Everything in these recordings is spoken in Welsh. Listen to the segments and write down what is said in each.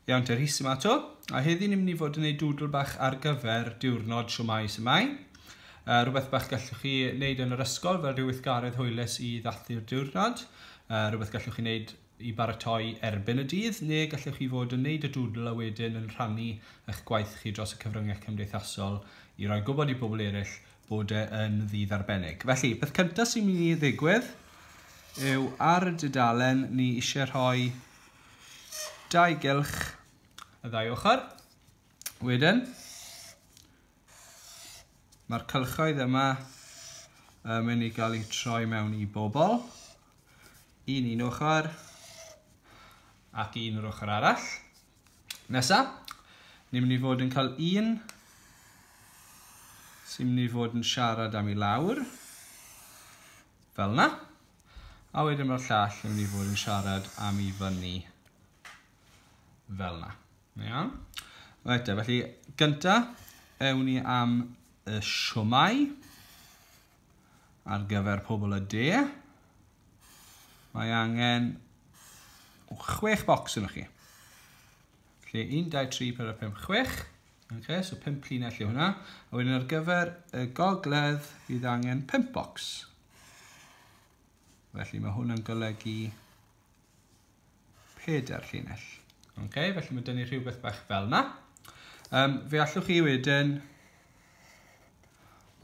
Iawn te, Rhys yma 'to. A heddi ni'n mynd i fod yn gwneud doodle bach ar gyfer diwrnod Shwmae Sumae. Rhywbeth bach gallwch chi wneud yn yr ysgol fel rhyw weithgaredd hwylus i ddathlu'r diwrnod. Rhywbeth gallwch chi wneud i baratoi erbyn y dydd, neu gallwch chi fod yn wneud y doodle a wedyn yn rhannu eich gwaith chi dros y cyfryngau cymdeithasol i roi gwybod i bobl eraill bod e yn ddydd arbennig. Felly, peth cyntaf sy'n mynd i ddigwydd yw ar y dudalen ni eisiau rhoi dau gylch y ddau ochr. Wedyn, mae'r cylchoedd yma yn mynd i gael eu troi mewn i bobl. Un un ochr ac un o'r ochr arall. Nesa, ni'n mynd i fod yn cael un sy'n mynd i fod yn siarad am i lawr, fel yna. A wedyn mae'r llall yn mynd i fod yn siarad am i fyny, fel yna. Iawn? Reit te, felly gynta, ewn ni am y siwmai ar gyfer pobl y de. Mae angen 6 bocs yno chi. Felly 1, 2, 3, 4, 5, 6. Okay, so 5 llinell yw hwnna. A wedyn ar gyfer y gogledd bydd angen 5 bocs. Felly mae hwn yn golygu 4 llinell. Okay, felly mae dynnu rhywbeth bach fel yna. Fe allwch chi wedyn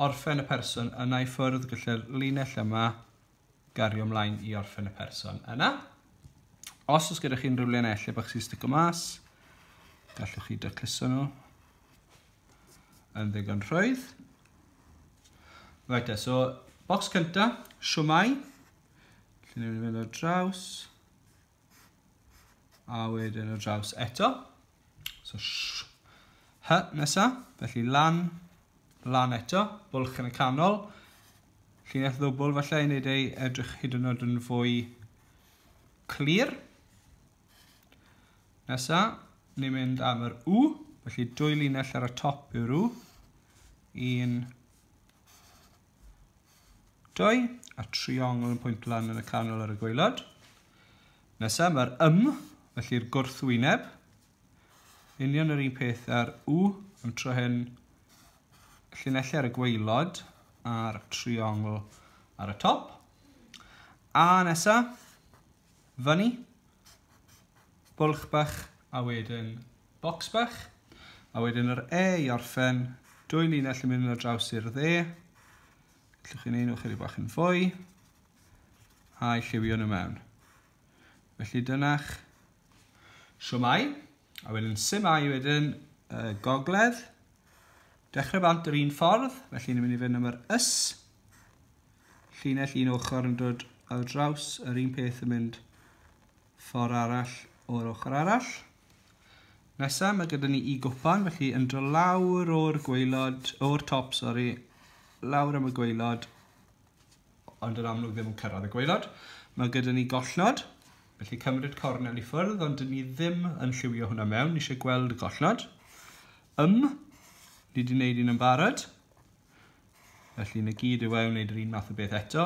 orffen y person yna i ffwrdd, gallu'r linell yma gario ymlaen i orffen y person yna. Os oes gyda chi unrhyw linellau bach sy'n stico mas, gallwch chi dacluso nhw yn ddigon rhwydd. Right, so bocs cynta, siwmai. Felly ni'n mynd ar draws. A wedyn ar draws eto. So sh, h nesa, felly lan, lan eto, bwlch yn y canol. Llinell ddwbl falle i wneud ei edrych hyd yn oed yn fwy clir. Nesa, ni'n mynd am yr U, felly dwy linell ar y top yw'r U. 1, 2, a triongl yn pwynt lan yn y canol ar y gwaelod. Nesa, mae'r M, felly'r gwrthwyneb. Union yr un peth ar U, ond tro hyn llinellau ar y gwaelod a'r triongl ar y top. A nesa, fyny, bwlch bach a wedyn bocs bach. A wedyn yr E i orffen, dwy linell yn mynd ar draws i'r dde. Gallwch chi wneud nhw chydig bach yn fwy. A i lliwio nhw mewn. Felly dyna'ch siwmai. A wedyn simai wedyn y gogledd. Dechrau bant yr un ffordd, felly ni'n mynd i fynd am yr ys. Llinell un ochr yn dod ar draws, yr un peth yn mynd ffordd arall o'r ochr arall. Nesa, mae gyda ni i gwpan, felly yn dod lawr o'r gwaelod, o'r top, sori, lawr am y gwaelod, ond yn amlwg ddim yn cyrraedd y gwaelod. Mae gyda ni gollnod, felly cymryd cornel i ffwrdd, ond dyn ni ddim yn lliwio hwnna mewn, ni eisiau gweld y gollnod. Ni wedi gwneud un yn barod, felly na gyd yw e wneud yr un math o beth eto.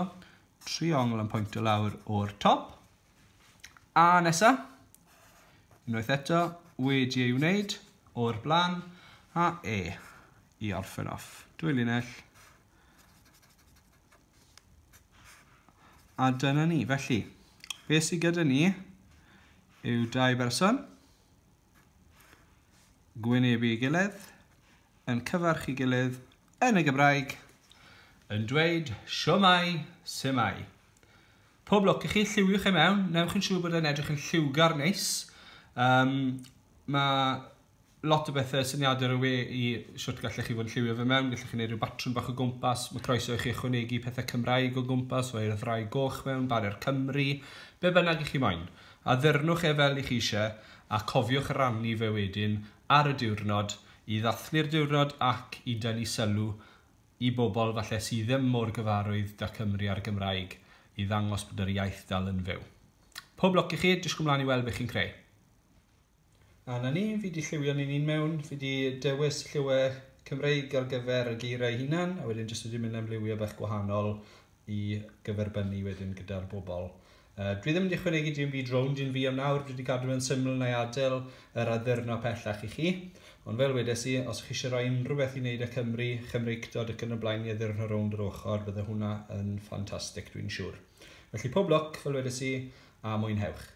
Triongl yn pwyntio lawr o'r top. A nesa, unwaith eto, wedi ei wneud o'r blaen, a E i orffen off. Dwy linell. A dyna ni. Felly, beth sydd gyda ni yw dau berson gwynebu ei gilydd, yn cyfarch ei gilydd yn y Gymraeg, yn dweud siwmai, simai. Pob lwc i chi, lliwiwch e mewn, newch yn siŵr bod e'n edrych yn lliwgar neis. Mae lot o bethau syniadau ar y we i shwt gallech chi fod yn lliwio fe mewn, gallech chi wneud rhyw batrwm bach o gwmpas, mae croeso i chi ychwanegu pethau Cymraeg o gwmpas, rhoi'r ddraig goch mewn, baner Cymru, be bynnag i chi moyn. Addurnwch e fel i chi eisiau, a cofiwch rannu fe wedyn ar y diwrnod, i ddathlu'r diwrnod ac i dynnu sylw i bobl falle sydd ddim mor gyfarwydd da Cymru a'r Gymraeg, i ddangos bod yr iaith dal yn fyw. Pob lwc i chi, disgwyl mlaen i weld beth chi'n creu. A na ni, fi di lliwio ni'n un mewn, fi di dewis lliwiau Cymreig ar gyfer y geiriau hunan, a wedyn jyst wedi mynd am liwiau bach gwahanol i gyferbynnu wedyn gyda'r bobl. Dwi ddim wedi ychwanegu dim byd rownd un fi am nawr, dwi wedi gadw yn syml na i adael yr addurno pellach i chi. Ond fel wedes i, os chi eisiau rhoi unrhyw beth i wneud â Cymru, Chymreictod ac yn y blaen i addurno rownd yr ochr, bydde hwnna yn ffantastig, dwi'n siŵr. Felly pob lwc, fel wedes i, a mwynhewch.